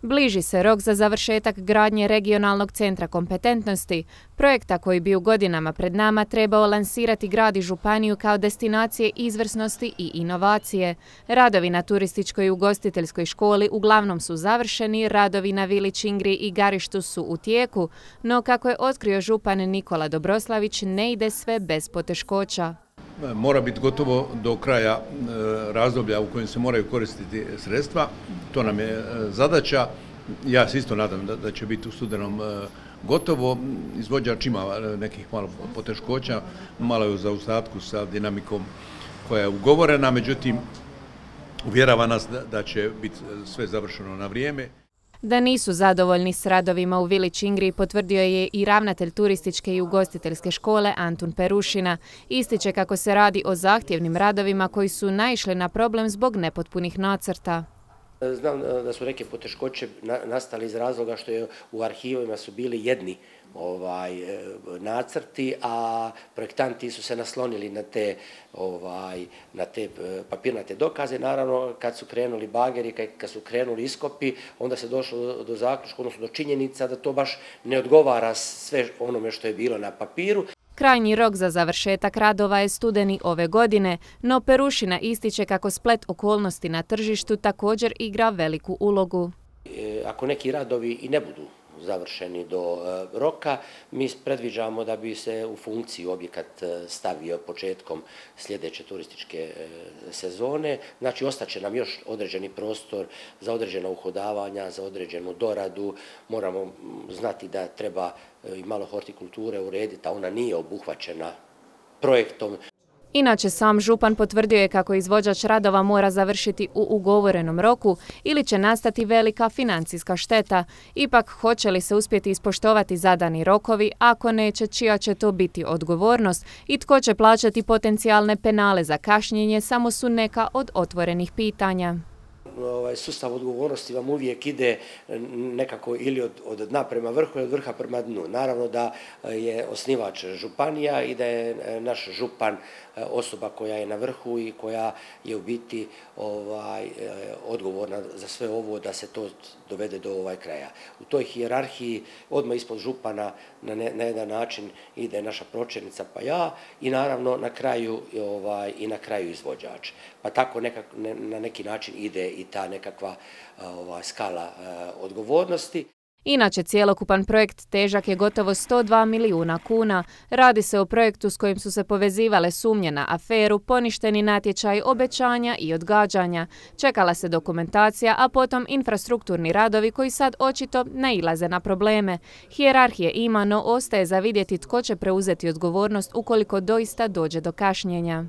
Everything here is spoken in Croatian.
Bliži se rok za završetak gradnje regionalnog centra kompetentnosti, projekta koji bi u godinama pred nama trebao lansirati grad i županiju kao destinacije izvrsnosti i inovacije. Radovi na turističkoj i ugostiteljskoj školi uglavnom su završeni, radovi na vili Čingri i Garištu su u tijeku, no kako je otkrio župan Nikola Dobroslavić, ne ide sve bez poteškoća. Mora biti gotovo do kraja razdoblja u kojem se moraju koristiti sredstva. To nam je zadaća. Ja se isto nadam da će biti u studenom gotovo. Izvođač ima nekih malo poteškoća, malo je u zaostatku sa dinamikom koja je ugovorena, međutim uvjerava nas da će biti sve završeno na vrijeme. Da nisu zadovoljni s radovima u vili Čingri potvrdio je i ravnatelj turističke i ugostiteljske škole Antun Perušina. Ističe kako se radi o zahtjevnim radovima koji su naišli na problem zbog nepotpunih nacrta. Znam da su neke poteškoće nastali iz razloga što je u arhivima su bili jedni nacrti, a projektanti su se naslonili na te papirnate dokaze. Naravno, kad su krenuli bageri, kad su krenuli iskopi, onda se došlo do zaključka, odnosno do činjenica da to baš ne odgovara sve onome što je bilo na papiru. Krajnji rok za završetak radova je studeni ove godine, no Perušina ističe kako splet okolnosti na tržištu također igra veliku ulogu. Ako neki radovi i ne budu završeni do roka, mi predviđamo da bi se u funkciju objekat stavio početkom sljedeće turističke sezone. Znači, ostaće nam još određeni prostor za određena uhodavanja, za određenu doradu. Moramo znati da treba i malo hortikulture urediti, a ona nije obuhvaćena projektom. Inače, sam župan potvrdio je kako izvođač radova mora završiti u ugovorenom roku ili će nastati velika financijska šteta. Ipak, hoće li se uspjeti ispoštovati zadani rokovi, ako neće, čija će to biti odgovornost i tko će plaćati potencijalne penale za kašnjenje, samo su neka od otvorenih pitanja. Sustav odgovornosti vam uvijek ide nekako ili od dna prema vrhu ili od vrha prema dnu. Naravno da je osnivač županija i da je naš župan osoba koja je na vrhu i koja je u biti odgovorna za sve ovo da se to dovede do kraja. U toj hijerarhiji odmah ispod župana na jedan način ide naša pročelnica pa ja i naravno na kraju izvođač. Pa tako na neki način ide i ta nekakva skala odgovornosti. Inače, cjelokupan projekt težak je gotovo 102 milijuna kuna. Radi se o projektu s kojim su se povezivale sumnje na aferu, poništeni natječaj, obećanja i odgađanja. Čekala se dokumentacija, a potom infrastrukturni radovi koji sad očito nailaze na probleme. Hijerarhije ima, no ostaje za vidjeti tko će preuzeti odgovornost ukoliko doista dođe do kašnjenja.